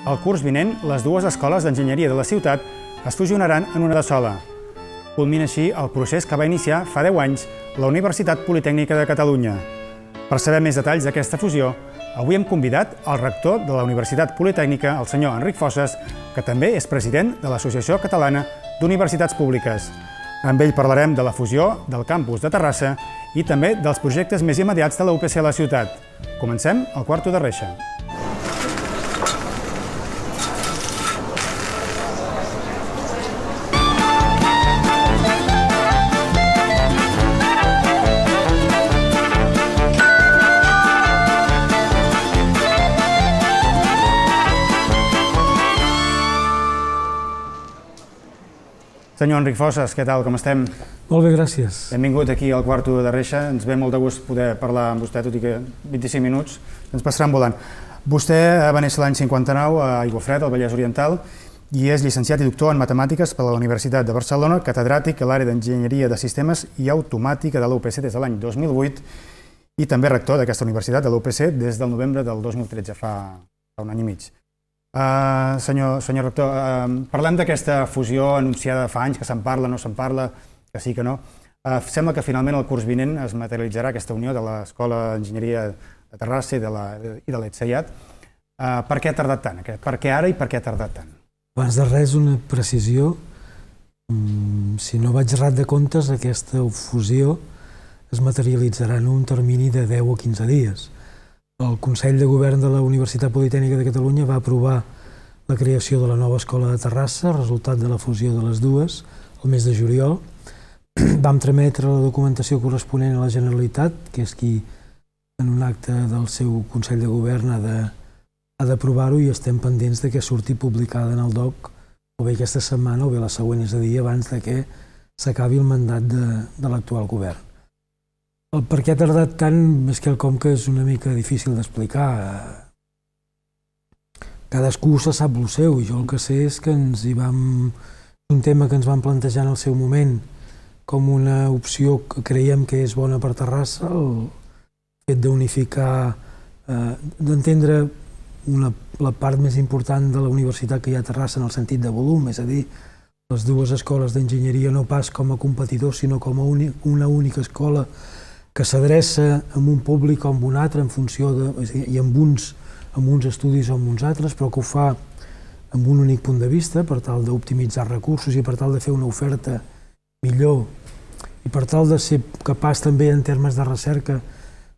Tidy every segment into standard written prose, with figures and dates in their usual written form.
El curs vinent, les dues escoles d'enginyeria de la ciutat es fusionaran en una de sola. Culmina així el procés que va iniciar fa 10 anys la Universitat Politècnica de Catalunya. Per saber més detalls d'aquesta fusió, avui hem convidat el rector de la Universitat Politècnica, el senyor Enric Fosses, que també és president de l'Associació Catalana d'Universitats Públiques. Amb ell parlarem de la fusió del campus de Terrassa i també dels projectes més immediats de la UPC a la ciutat. Comencem el Quarto de Reixa. Senyor Enric Fosses, què tal, com estem? Molt bé, gràcies. Benvingut aquí al Quarto de Reixa. Ens ve molt de gust poder parlar amb vostè, tot i que 25 minuts ens passaran volant. Vostè va néixer l'any 59 a Aiguafreda, al Vallès Oriental, i és llicenciat i doctor en Matemàtiques per la Universitat de Barcelona, catedràtic a l'àrea d'Enginyeria de Sistemes i Automàtica de la UPC des de l'any 2008 i també rector d'aquesta universitat, de la UPC, des del novembre del 2013, fa un any i mig. Senyor rector, parlem d'aquesta fusió anunciada fa anys, que se'n parla, no se'n parla, que sí, que no. Sembla que finalment el curs vinent es materialitzarà aquesta unió de l'Escola d'Enginyeria de Terrassa i de l'ETSEIAT. Per què ha tardat tant? Per què ara i per què ha tardat tant? Abans de res, una precisió. Si no vaig errat de comptes, aquesta fusió es materialitzarà en un termini de 10 o 15 dies. El Consell de Govern de la Universitat Politècnica de Catalunya va aprovar la creació de la nova escola de Terrassa, resultat de la fusió de les dues, el mes de juliol. Vam trametre la documentació corresponent a la Generalitat, que és qui, en un acte del seu Consell de Govern, ha d'aprovar-ho i estem pendents que surti publicada en el DOC o bé aquesta setmana o bé la següent, és a dir, abans que s'acabi el mandat de l'actual govern. El per què ha tardat tant és quelcom que és una mica difícil d'explicar. Cadascú se sap el seu i jo el que sé és que un tema que ens vam plantejar en el seu moment com una opció que creiem que és bona per Terrassa, el fet d'unificar, d'entendre la part més important de la universitat que hi ha a Terrassa en el sentit de volum, és a dir, les dues escoles d'enginyeria no pas com a competidors sinó com a una única escola que s'adreça a un públic o a un altre en funció i amb uns estudis o amb uns altres, però que ho fa amb un únic punt de vista per tal d'optimitzar recursos i per tal de fer una oferta millor i per tal de ser capaç també en termes de recerca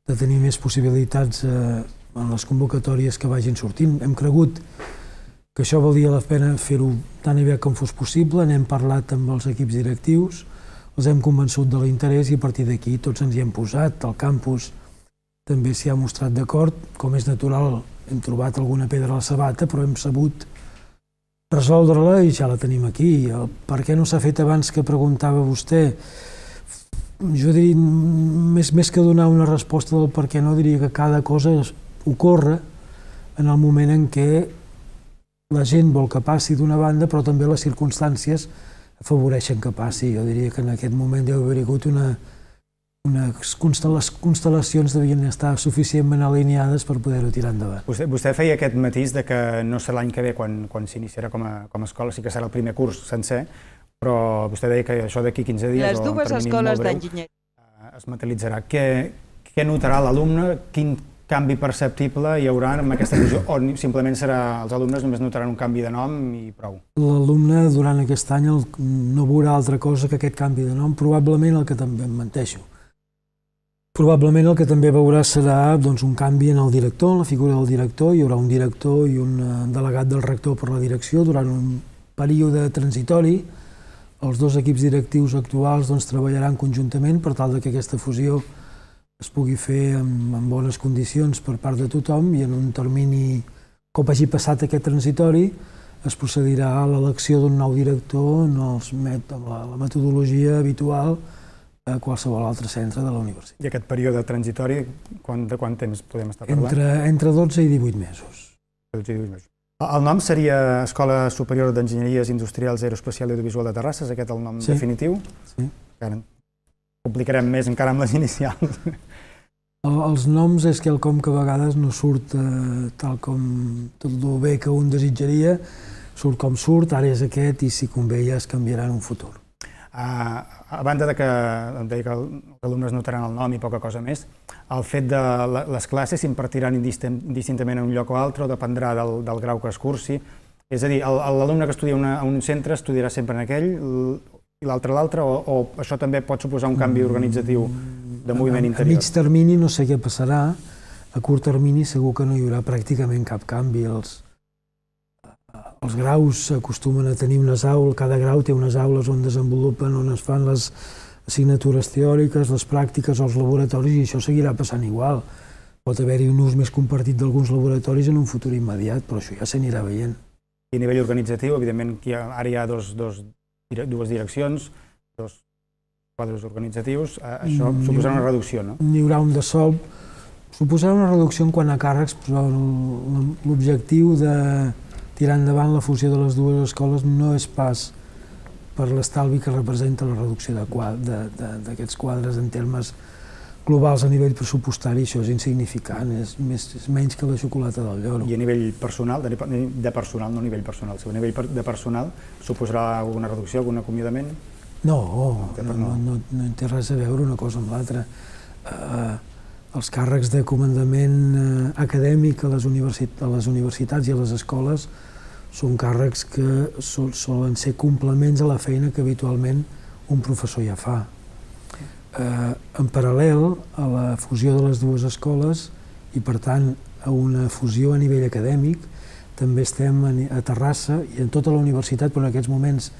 de tenir més possibilitats en les convocatòries que vagin sortint. Hem cregut que això valia la pena fer-ho tan aviat com fos possible, n'hem parlat amb els equips directius, els hem convençut de l'interès i a partir d'aquí tots ens hi hem posat. El campus també s'hi ha mostrat d'acord, com és natural, hem trobat alguna pedra a la sabata, però hem sabut resoldre-la i ja la tenim aquí. Per què no s'ha fet abans que preguntava vostè? Jo diria, més que donar una resposta del per què no, diria que cada cosa ocorre en el moment en què la gent vol que passi d'una banda, però també les circumstàncies afavoreixen que passi. Jo diria que en aquest moment deu haver hagut les constel·lacions devien estar suficientment alineades per poder-ho tirar endavant. Vostè feia aquest matís que no serà l'any que ve quan s'iniciarà com a escola, sí que serà el primer curs sencer, però vostè deia que això d'aquí 15 dies les dues escoles d'enginyeria es materialitzarà. Què notarà l'alumne? Quin canvi perceptible hi haurà amb aquesta fusió o simplement els alumnes només notaran un canvi de nom i prou? L'alumne durant aquest any no veurà altra cosa que aquest canvi de nom, probablement el que també em menteixo. Probablement el que també veurà serà un canvi en el director, en la figura del director. Hi haurà un director i un delegat del rector per la direcció durant un període transitori. Els dos equips directius actuals treballaran conjuntament per tal que aquesta fusió es pugui fer en bones condicions per part de tothom i en un termini, com hagi passat aquest transitori, es procedirà a l'elecció d'un nou director amb la metodologia habitual a qualsevol altre centre de la universitat. I aquest període transitori, de quant temps podem estar parlant? Entre 12 i 18 mesos. El nom seria Escola Superior d'Enginyeries Industrials Aeroespacial i Audiovisual de Terrassa, és aquest el nom definitiu? Sí. Complicarem més encara amb les inicials. Els noms és quelcom que a vegades no surt tal com tot el bé que un desitjaria, surt com surt, ara és aquest i si convé ja es canviarà en un futur. A banda que em deia que els alumnes notaran el nom i poca cosa més, el fet de les classes s'impartiran indistintament en un lloc o altre o dependrà del grau que es cursi. És a dir, l'alumne que estudia a un centre estudiarà sempre en aquell i l'altre a l'altre, o això també pot suposar un canvi organitzatiu de moviment interior? A mig termini no sé què passarà, a curt termini segur que no hi haurà pràcticament cap canvi. Els graus acostumen a tenir unes aules, cada grau té unes aules on desenvolupen, on es fan les assignatures teòriques, les pràctiques o els laboratoris, i això seguirà passant igual. Pot haver-hi un ús més compartit d'alguns laboratoris en un futur immediat, però això ja s'anirà veient. I a nivell organitzatiu, evidentment, ara hi ha dues direccions, dos quadres organitzatius, això suposarà una reducció, no? N'hi haurà un de sol, suposarà una reducció en quant a càrrecs, però l'objectiu de tirar endavant la fusió de les dues escoles no és pas per l'estalvi que representa la reducció d'aquests quadres en termes globals a nivell pressupostari, això és insignificant, és menys que la xocolata del lloro. I a nivell personal, de personal, no a nivell personal, a nivell de personal, suposarà alguna reducció, algun acomiadament? No té res a veure una cosa amb l'altra. Els càrrecs de comandament acadèmic a les universitats i a les escoles són càrrecs que solen ser complements a la feina que habitualment un professor ja fa. En paral·lel a la fusió de les dues escoles i, per tant, a una fusió a nivell acadèmic, també estem a Terrassa i en tota la universitat, però en aquests moments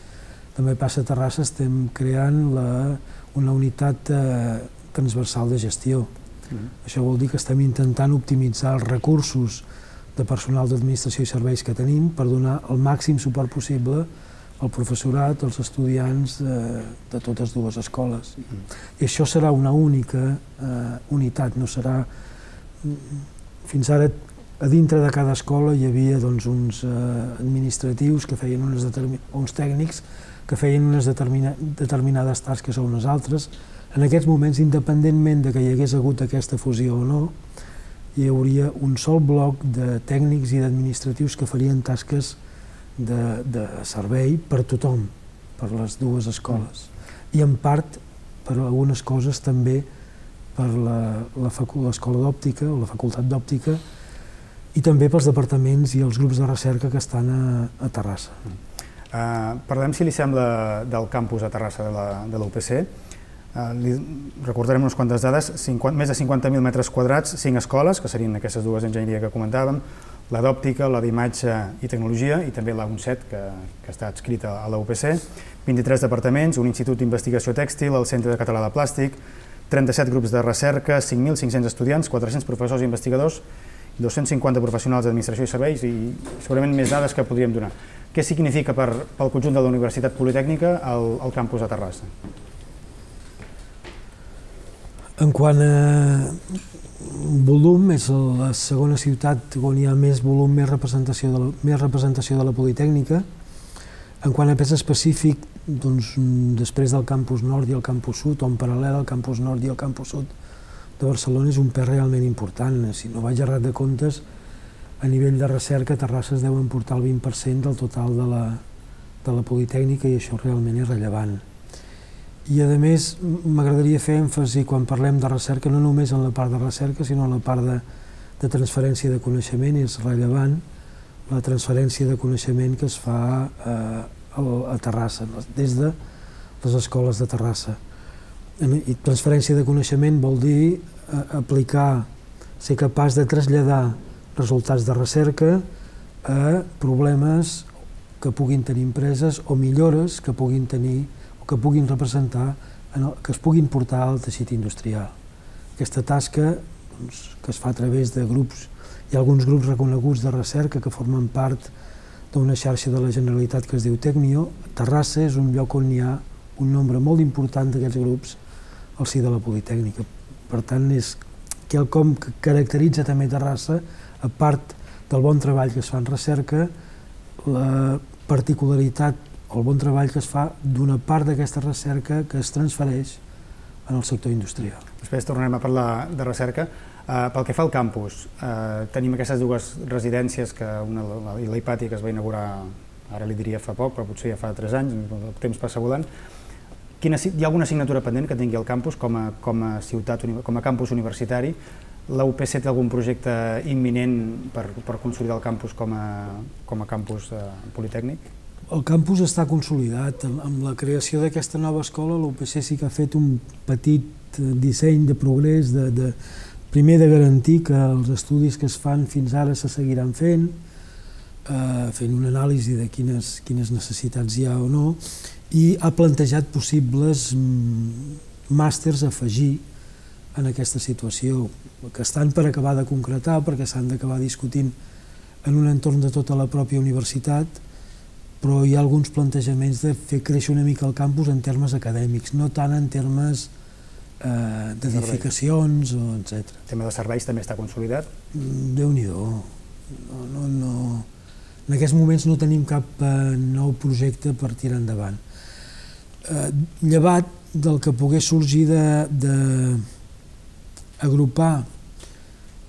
també passa a Terrassa, estem creant una unitat transversal de gestió. Això vol dir que estem intentant optimitzar els recursos de personal d'administració i serveis que tenim per donar el màxim suport possible al professorat, als estudiants de totes dues escoles. I això serà una única unitat, no serà... Fins ara, a dintre de cada escola hi havia uns administratius que feien uns tècnics que feien unes determinades tasques o unes altres. En aquests moments, independentment de que hi hagués hagut aquesta fusió o no, hi hauria un sol bloc de tècnics i d'administratius que farien tasques de servei per tothom, per les dues escoles. I en part, per algunes coses, també per l'escola d'òptica o la facultat d'òptica i també pels departaments i els grups de recerca que estan a Terrassa. Parlem, si li sembla, del campus a Terrassa de la UPC. Recordarem unes quantes dades, més de 50.000 metres quadrats, 5 escoles, que serien aquestes dues d'enginyeria que comentàvem, la d'òptica, la d'imatge i tecnologia i també la UNCET, que està adscrita a la UPC, 23 departaments, un institut d'investigació tèxtil, el Centre Català de Plàstic, 37 grups de recerca, 5.500 estudiants, 400 professors i investigadors, 250 professionals d'administració i serveis i segurament més dades que podríem donar. Què significa pel conjunt de la Universitat Politècnica el campus a Terrassa? En quant a volum, és la segona ciutat on hi ha més volum, més representació de la Politècnica. En quant a pes específic, després del campus nord i el campus sud, o en paral·lel al campus nord i el campus sud de Barcelona, és un pes realment important. Si no vaig errat de comptes, a nivell de recerca, Terrassa es deu emportar el 20% del total de la Politècnica i això realment és rellevant. I, a més, m'agradaria fer èmfasi, quan parlem de recerca, no només en la part de recerca, sinó en la part de transferència de coneixement. És rellevant la transferència de coneixement que es fa a Terrassa, des de les escoles de Terrassa. I transferència de coneixement vol dir aplicar, ser capaç de traslladar resultats de recerca a problemes que puguin tenir empreses o millores que puguin tenir que puguin representar, que es puguin portar al teixit industrial. Aquesta tasca que es fa a través de grups, hi ha alguns grups reconeguts de recerca que formen part d'una xarxa de la Generalitat que es diu Tecnio. Terrassa és un lloc on hi ha un nombre molt important d'aquests grups al si de la Politècnica. Per tant, és quelcom que caracteritza també Terrassa, a part del bon treball que es fa en recerca, la particularitat o el bon treball que es fa d'una part d'aquesta recerca que es transfereix en el sector industrial. després tornarem a parlar de recerca. Pel que fa al campus, tenim aquestes dues residències, la Hipàtia, que es va inaugurar, ara li diria fa poc, però potser ja fa 3 anys, el temps passa volant. Hi ha alguna assignatura pendent que tingui el campus com a ciutat, com a campus universitari? La UPC té algun projecte imminent per consolidar el campus com a campus politècnic? El campus està consolidat. Amb la creació d'aquesta nova escola, la UPC sí que ha fet un petit disseny de progrés, primer de garantir que els estudis que es fan fins ara se seguiran fent una anàlisi de quines necessitats hi ha o no, i ha plantejat possibles màsters a afegir en aquesta situació, que estan per acabar de concretar, perquè s'han d'acabar discutint en un entorn de tota la pròpia universitat, però hi ha alguns plantejaments de fer créixer una mica el campus en termes acadèmics, no tant en termes d'edificacions, etc. El tema de serveis també està consolidat? Déu-n'hi-do. En aquests moments no tenim cap nou projecte per tirar endavant. Llevat del que pogués sorgir d'agrupar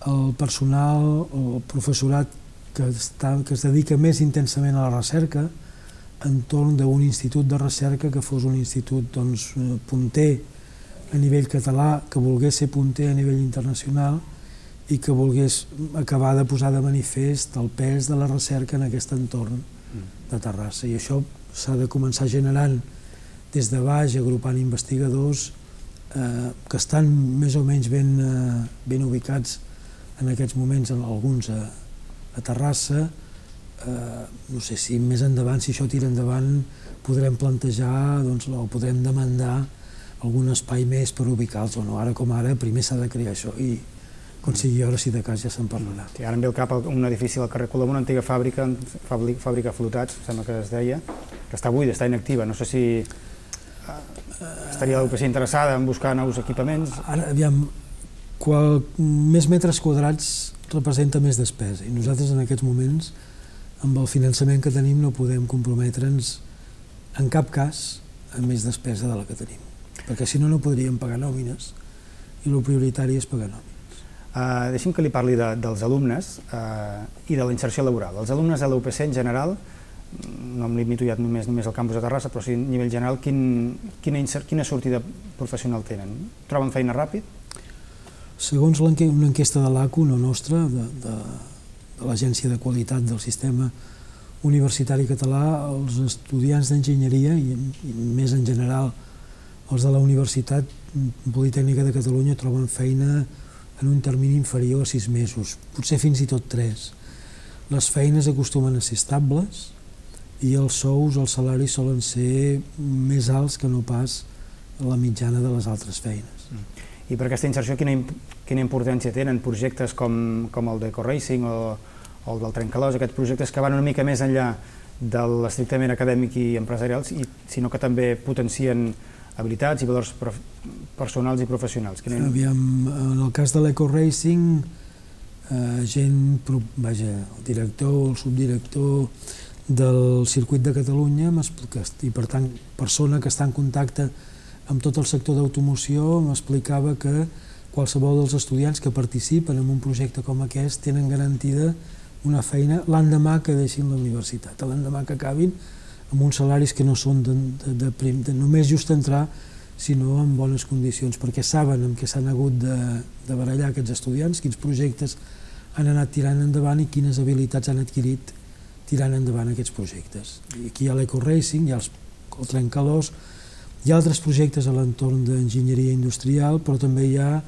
el personal o el professorat que es dedica més intensament a la recerca entorn d'un institut de recerca que fos un institut punter a nivell català, que volgués ser punter a nivell internacional i que volgués acabar de posar de manifest el pes de la recerca en aquest entorn de Terrassa. I això s'ha de començar generant des de baix, agrupant investigadors que estan més o menys ben ubicats en aquests moments, alguns a Terrassa. No sé si més endavant, si això tira endavant, podrem plantejar o podrem demandar algun espai més per ubicar-los o no. Ara com ara, primer s'ha de crear això i quan sigui hora, si de cas, ja se'n parlarà. Ara em ve al cap un edifici al carrer Colom, una antiga fàbrica Flotats, sembla que es deia, que està buida, està inactiva. No sé si estaria la UPC interessada en buscar nous equipaments. Ara, aviam, més metres quadrats representa més despesa i nosaltres en aquests moments, amb el finançament que tenim, no podem comprometre'ns en cap cas a més despesa de la que tenim, perquè si no, no podríem pagar nòmines i el prioritari és pagar nòmines. Deixi'm que li parli dels alumnes i de la inserció laboral. Els alumnes de la UPC en general, no em limito ja només al campus de Terrassa, però sí a nivell general, quina sortida professional tenen? Troben feina ràpid? Segons una enquesta de l'ACU, no nostra, de l'Agència de Qualitat del Sistema Universitari Català, els estudiants d'enginyeria, i més en general els de la Universitat Politècnica de Catalunya, troben feina en un termini inferior a 6 mesos, potser fins i tot 3. Les feines acostumen a ser estables i els sous, els salaris solen ser més alts que no pas la mitjana de les altres feines. I per aquesta inserció quina importància tenen projectes com el d'EcoRacing o el del Trencalòs, aquests projectes que van una mica més enllà de l'estrictament acadèmic i empresarials, sinó que també potencien habilitats i valors personals i professionals? Aviam, en el cas de l'EcoRacing, el director o el subdirector del circuit de Catalunya i per tant persona que està en contacte amb tot el sector d'automoció m'explicava que qualsevol dels estudiants que participen en un projecte com aquest tenen garantida una feina l'endemà que deixin la universitat, l'endemà que acabin, amb uns salaris que no són de només just entrar, sinó en bones condicions, perquè saben amb què s'han hagut de barallar aquests estudiants, quins projectes han anat tirant endavant i quines habilitats han adquirit tirant endavant aquests projectes. I aquí hi ha l'EcoRacing, hi ha el Trencalòs, hi ha altres projectes a l'entorn d'enginyeria industrial, però també hi ha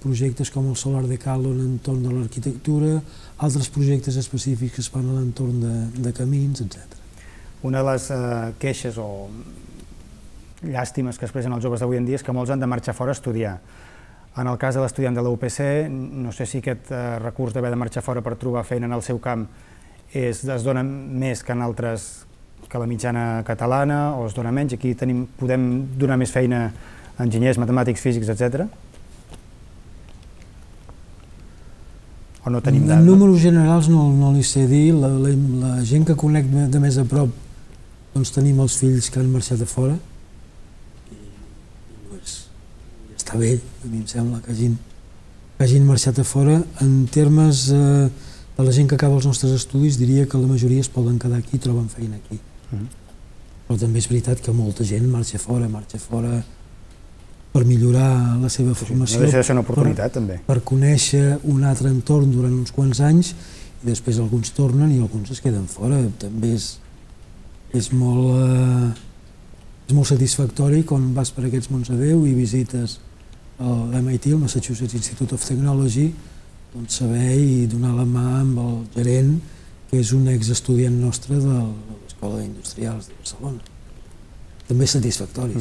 projectes com el Solar Decalo en l'entorn de l'arquitectura, altres projectes específics que es fan a l'entorn de camins, etc. Una de les queixes o llàstimes que expressen els joves d'avui en dia és que molts han de marxar fora a estudiar. En el cas de l'estudiant de la UPC, no sé si aquest recurs d'haver de marxar fora per trobar feina en el seu camp es dona més que en altres, que la mitjana catalana, o es dona menys. Aquí podem donar més feina a enginyers, matemàtics, físics, etc. O no tenim dades? En números generals no li sé dir. La gent que conec de més a prop, doncs tenim els fills que han marxat a fora. està bé, a mi em sembla que hagin marxat a fora. En termes de la gent que acaba els nostres estudis, diria que la majoria es poden quedar aquí i troben feina aquí. Però també és veritat que molta gent marxa fora per millorar la seva formació. No deixa de ser una oportunitat, també. Per conèixer un altre entorn durant uns quants anys i després alguns tornen i alguns es queden fora. També és molt satisfactori quan vas per aquests mons a Déu i visites l'MIT, el Massachusetts Institute of Technology, doncs saber i donar la mà amb el gerent, que és un exestudiant nostre de l'Escola d'Industrials de Barcelona. També és satisfactori.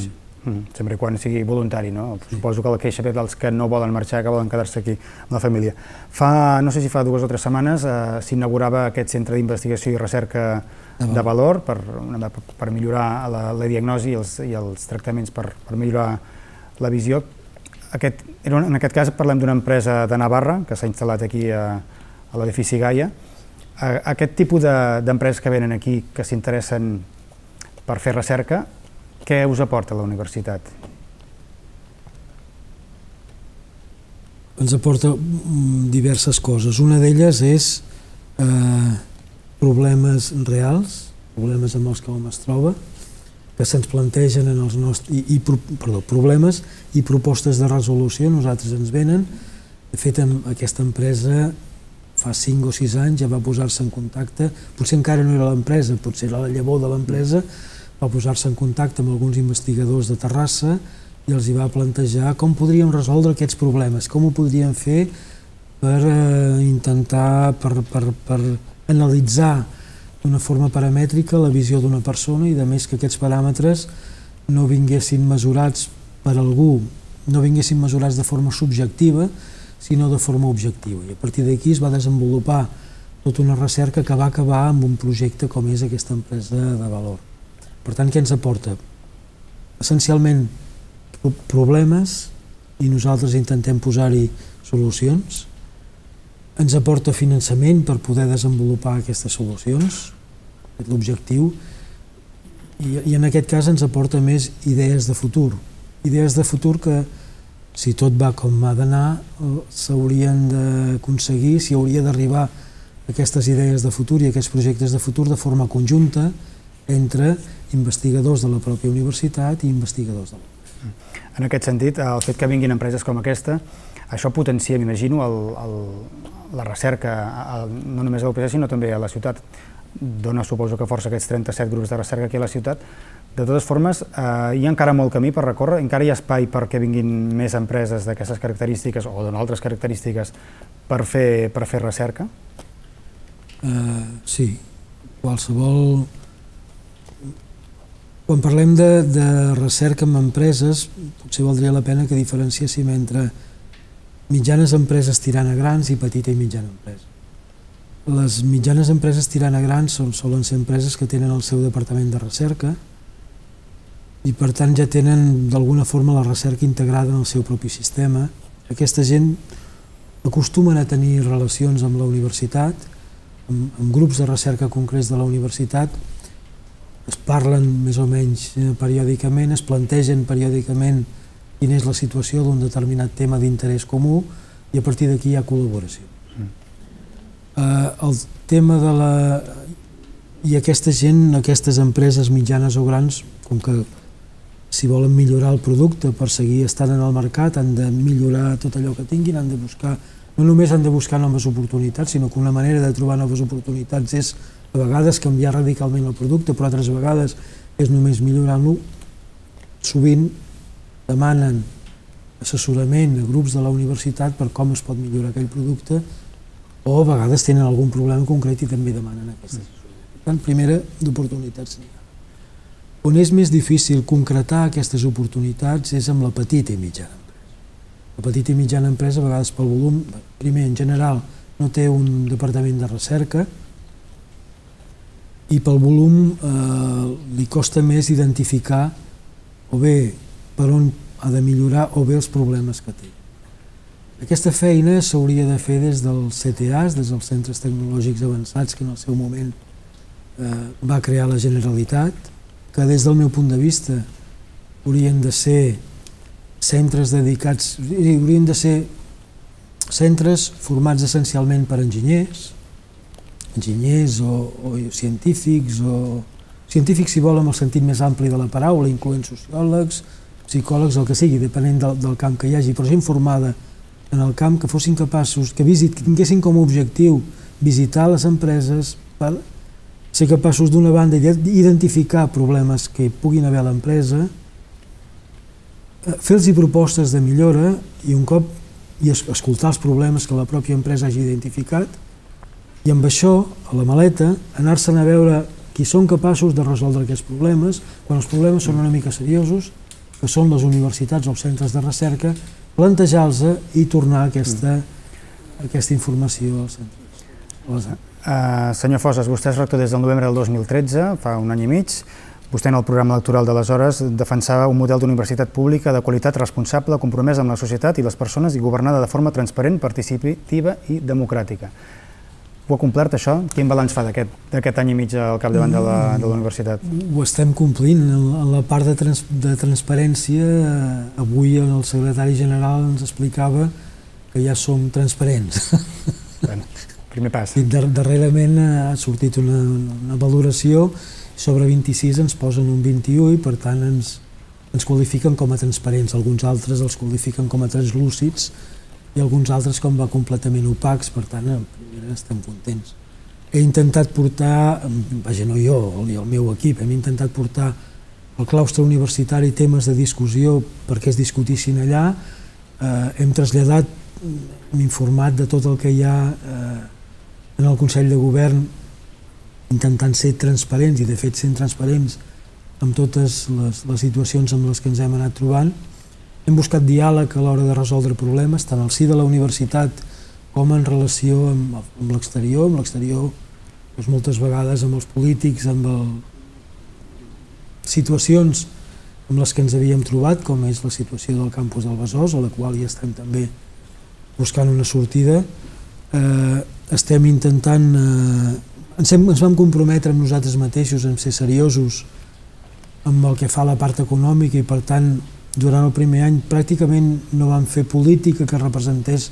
Sempre quan sigui voluntari, no? Suposo que la queixa ve dels que no volen marxar, que volen quedar-se aquí amb la família. No sé si fa 2 o 3 setmanes s'inaugurava aquest centre d'investigació i recerca de valor per millorar la diagnosi i els tractaments per millorar la visió. En aquest cas parlem d'una empresa de Navarra que s'ha instal·lat aquí a l'edifici Gaia. Aquest tipus d'empreses que venen aquí, que s'interessen per fer recerca, què us aporta la universitat? Ens aporta diverses coses. Una d'elles és problemes reals, problemes amb els que hom es troba, que se'ns plantegen en els nostres... problemes i propostes de resolució. Nosaltres ens venen. De fet, aquesta empresa fa 5 o 6 anys ja va posar-se en contacte, potser encara no era l'empresa, potser era la llavor de l'empresa, va posar-se en contacte amb alguns investigadors de Terrassa i els hi va plantejar com podríem resoldre aquests problemes, com ho podríem fer per intentar, per analitzar d'una forma paramètrica la visió d'una persona i a més que aquests paràmetres no vinguessin mesurats per algú, no vinguessin mesurats de forma subjectiva, sinó de forma objectiva. I a partir d'aquí es va desenvolupar tota una recerca que va acabar amb un projecte com és aquesta empresa de valor. Per tant, què ens aporta? Essencialment problemes i nosaltres intentem posar-hi solucions. Ens aporta finançament per poder desenvolupar aquestes solucions, és l'objectiu, i en aquest cas ens aporta més idees de futur. Idees de futur que, si tot va com ha d'anar, s'haurien d'aconseguir, s'hi hauria d'arribar aquestes idees de futur i aquests projectes de futur de forma conjunta entre investigadors de la pròpia universitat i investigadors de la... En aquest sentit, el fet que vinguin empreses com aquesta, això potencia, m'imagino, la recerca, no només a l'UPC, sinó també a la ciutat. Dona, suposo que força aquests 37 grups de recerca aquí a la ciutat. De totes formes, hi ha encara molt camí per recórrer, encara hi ha espai perquè vinguin més empreses d'aquestes característiques o d'altres característiques per fer recerca? Sí, qualsevol... Quan parlem de recerca amb empreses, potser valdria la pena que diferenciéssim entre mitjanes empreses tirant a grans i petita i mitjana empresa. Les mitjanes empreses tirant a grans solen ser empreses que tenen el seu departament de recerca i per tant ja tenen d'alguna forma la recerca integrada en el seu propi sistema. Aquesta gent acostumen a tenir relacions amb la universitat, amb grups de recerca concrets de la universitat, es parlen més o menys periòdicament, es plantegen periòdicament quina és la situació d'un determinat tema d'interès comú i a partir d'aquí hi ha col·laboració. El tema de la... I aquesta gent, aquestes empreses mitjanes o grans, com que si volen millorar el producte per seguir estant en el mercat, han de millorar tot allò que tinguin, han de buscar, no només han de buscar noves oportunitats, sinó que una manera de trobar noves oportunitats és a vegades canviar radicalment el producte, però altres vegades és només millorant-lo. Sovint demanen assessorament a grups de la universitat per com es pot millorar aquell producte o a vegades tenen algun problema concret i també demanen aquest assessorament. Per tant, primera, d'oportunitats n'hi ha. On és més difícil concretar aquestes oportunitats és amb la petita i mitjana empresa. La petita i mitjana empresa, a vegades pel volum, primer, en general, no té un departament de recerca i pel volum li costa més identificar o bé per on ha de millorar o bé els problemes que té. Aquesta feina s'hauria de fer des dels CTAs, des dels Centres Tecnològics Avançats, que en el seu moment va crear la Generalitat, que des del meu punt de vista haurien de ser centres dedicats, haurien de ser centres formats essencialment per enginyers o científics, si vol en el sentit més ampli de la paraula, incloent sociòlegs, psicòlegs, el que sigui, depenent del camp que hi hagi, però gent formada en el camp, que fossin capaços, que tinguessin com a objectiu visitar les empreses per ser capaços d'una banda d'identificar problemes que hi puguin haver a l'empresa, fer-los propostes de millora i un cop escoltar els problemes que la pròpia empresa hagi identificat i amb això, a la maleta, anar-se'n a veure qui són capaços de resoldre aquests problemes, quan els problemes són una mica seriosos, que són les universitats o els centres de recerca, plantejar-los i tornar aquesta informació als centres. Senyor Fosses, vostè és rector des del novembre del 2013, fa un any i mig. Vostè en el programa electoral d'aleshores defensava un model d'universitat pública de qualitat responsable, compromesa amb la societat i les persones i governada de forma transparent, participativa i democràtica. Ho ha complert això? Quin balanç fa d'aquest any i mig al capdavant de la universitat? Ho estem complint. En la part de transparència, avui el secretari general ens explicava que ja som transparents. Primer pas. Darrerament ha sortit una valoració, sobre 26 ens posen un 21 i per tant ens qualifiquen com a transparents. Alguns altres els qualifiquen com a translúcids i alguns altres com a completament opacs, per tant estem contents. He intentat portar, vaja, no jo, i el meu equip, hem intentat portar al claustre universitari temes de discussió perquè es discutissin allà, hem traslladat, hem informat de tot el que hi ha en el Consell de Govern intentant ser transparents i de fet sent transparents amb totes les situacions amb les que ens hem anat trobant. Hem buscat diàleg a l'hora de resoldre problemes, tant al si de la universitat com en relació amb l'exterior, moltes vegades amb els polítics, amb situacions amb les que ens havíem trobat, com és la situació del campus del Besòs, a la qual hi estem també buscant una sortida. Estem intentant, ens vam comprometre amb nosaltres mateixos en ser seriosos amb el que fa a la part econòmica i per tant durant el primer any pràcticament no vam fer política que representés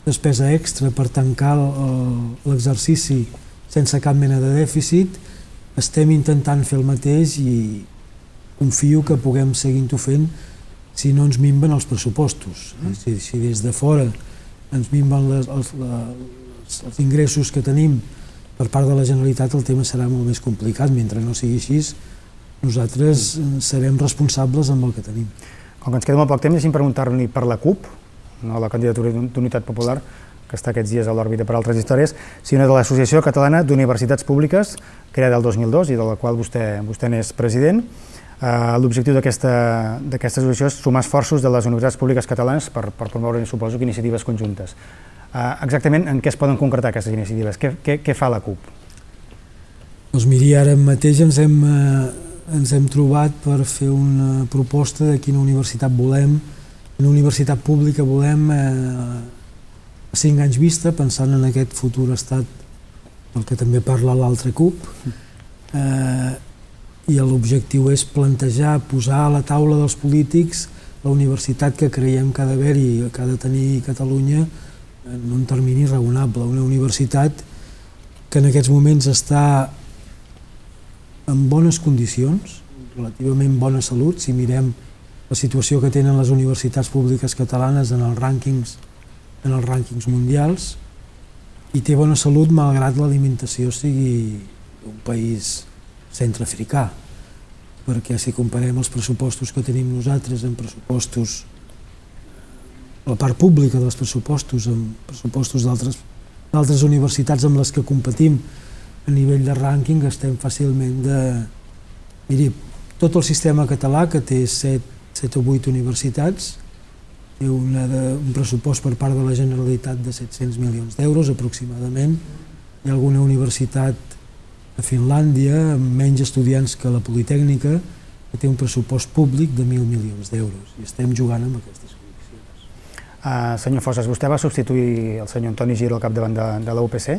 despesa extra per tancar l'exercici sense cap mena de dèficit. Estem intentant fer el mateix i confio que puguem seguir-ho fent si no ens minven els pressupostos. Si des de fora ens minven els ingressos que tenim per part de la Generalitat, el tema serà molt més complicat. Mentre no sigui així, nosaltres serem responsables amb el que tenim. Com que ens queda molt poc temps, deixi'm preguntar-li per la CUP, no la candidatura d'Unitat Popular, que està aquests dies a l'òrbita per altres històries, sinó de l'Associació Catalana d'Universitats Públiques, creada el 2002 i de la qual vostè n'és president. L'objectiu d'aquesta associació és sumar esforços de les universitats públiques catalanes per promoure, suposo, iniciatives conjuntes. Exactament en què es poden concretar aquestes iniciatives? Què fa la CUP? Doncs miri, ara mateix ens hem trobat per fer una proposta de quina universitat volem, quina universitat pública volem a 5 anys vista, pensant en aquest futur estat del que també parla l'altra CUP, i l'objectiu és plantejar, posar a la taula dels polítics la universitat que creiem que ha d'haver-hi, que ha de tenir Catalunya en un termini raonable, una universitat que en aquests moments està en bones condicions, relativament bona salut, si mirem la situació que tenen les universitats públiques catalanes en els rànquings mundials, i té bona salut malgrat l'alimentació sigui un país centreafricà, perquè si comparem els pressupostos que tenim nosaltres en pressupostos, la part pública dels pressupostos amb pressupostos d'altres universitats amb les que competim a nivell de rànquing, estem fàcilment de... Miri, tot el sistema català, que té 7 o 8 universitats, té un pressupost per part de la Generalitat de 700 milions d'euros aproximadament. Hi ha alguna universitat a Finlàndia, amb menys estudiants que la Politècnica, que té un pressupost públic de 1.000 milions d'euros, i estem jugant amb aquestes condicions. Senyor Fosses, vostè va substituir el senyor Antoni Giro al capdavant de la UPC.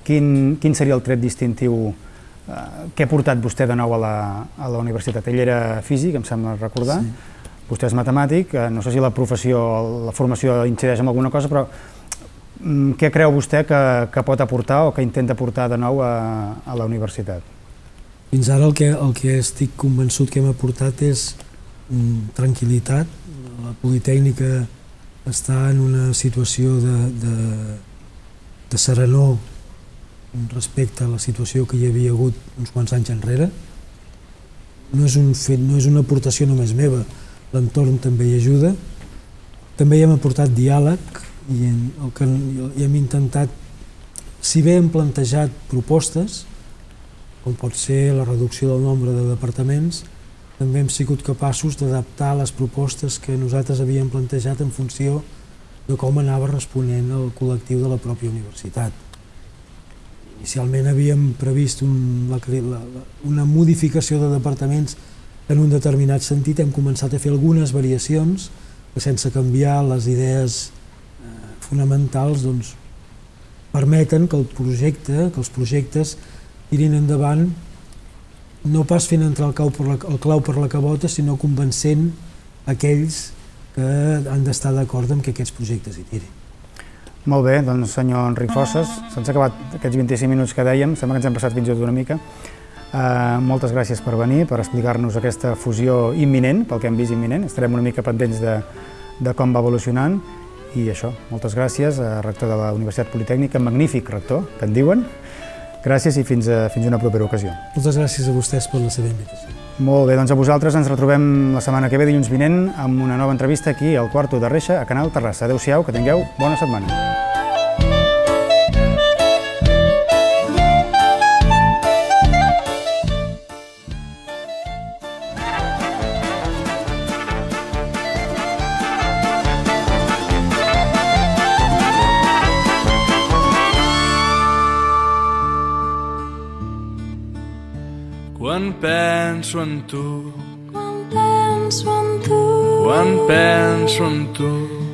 Quin seria el tret distintiu que ha portat vostè de nou a la universitat? Ell era físic, em sembla recordar, Vostè és matemàtic, no sé si la professió, la formació incideix en alguna cosa, però què creu vostè que pot aportar o que intenta aportar de nou a la universitat? Fins ara el que estic convençut que hem aportat és tranquil·litat. La Politècnica està en una situació de serenor respecte a la situació que hi havia hagut uns quants anys enrere. No és un fet, no és una aportació només meva, l'entorn també hi ajuda. També hi hem aportat diàleg i hem intentat, si bé hem plantejat propostes, com pot ser la reducció del nombre de departaments, també hem sigut capaços d'adaptar les propostes que nosaltres havíem plantejat en funció de com anava responent el col·lectiu de la pròpia universitat. Inicialment havíem previst una modificació de departaments en un determinat sentit, hem començat a fer algunes variacions que sense canviar les idees fonamentals permeten que els projectes tirin endavant no pas fent entrar el clau per la cabota, sinó convencent aquells que han d'estar d'acord amb que aquests projectes hi tirin. Molt bé, doncs senyor Enric Fosses, se'ns ha acabat aquests 25 minuts que dèiem, sembla que ens hem passat fins i tot una mica. Moltes gràcies per venir, per explicar-nos aquesta fusió imminent, pel que hem vist imminent, estarem una mica pendents de com va evolucionant, i això, moltes gràcies, rector de la Universitat Politècnica, magnífic rector, que en diuen. Gràcies i fins una propera ocasió. Moltes gràcies a vostès per la seva invitació. Molt bé, doncs a vosaltres ens retrobem la setmana que ve, dilluns vinent, amb una nova entrevista aquí al Quarto de Reixa, a Canal Terrassa. Adéu-siau, que tingueu bona setmana. Quan penso en tu, quan penso en tu, quan penso en tu,